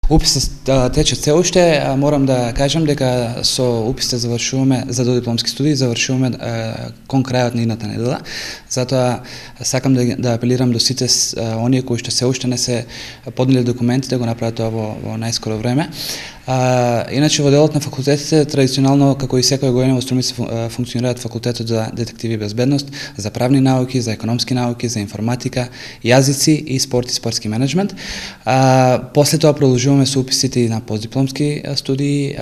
Уписот тече се уште, морам да кажам дека со уписите завршуваме за додипломски студии, завршуваме кон крајот на идната недела. Затоа сакам да апелирам до сите оние кои што се уште не се поднели документи да го направат тоа во најскоро време. Иначе во делот на факултетите традиционално како и секоја година во Струмица функционираат факултетот за детективи и безбедност, за правни науки, за економски науки, за информатика, јазици и спорт и спортски менеджмент. После тоа продолжуваме со уписите и на постдипломски студии.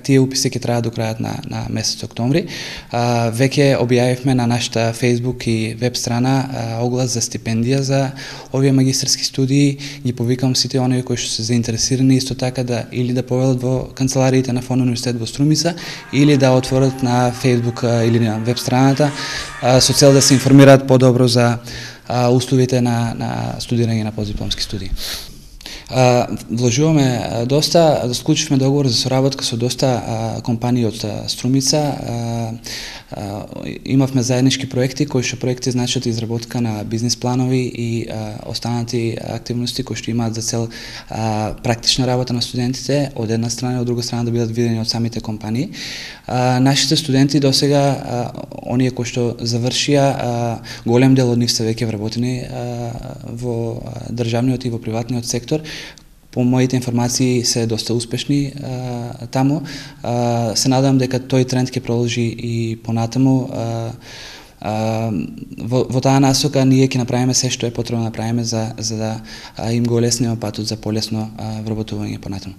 Тие уписи ќе траат до крајот на месец октомври. Веќе објавивме на нашата Facebook и веб страна оглас за стипендија за овие магистерски студии. Ги повикам сите оние кои што се заинтересирани исто така или да повелат во канцелариите на Фон универзитет во Струмица или да отворат на Facebook или на веб страната со цел да се информираат подобро за условите на студирање на постдипломски студии. Вложуваме доста, склучивме договор за соработка со доста компании од Струмица. Имавме заеднички проекти, кои што проекти значат изработка на бизнис планови и останати активности кои што имаат за цел практична работа на студентите, од една страна и од друга страна да бидат видени од самите компании. Нашите студенти досега, оние кои што завршија, голем дел од нив се веќе вработени во државниот и во приватниот сектор. По моите информации се доста успешни таму. Се надам дека тој тренд ќе продолжи и понатаму. Во таа насока ние ќе направиме се што е потребно да направиме за да им го олесниме патот за полесно вработување понатаму.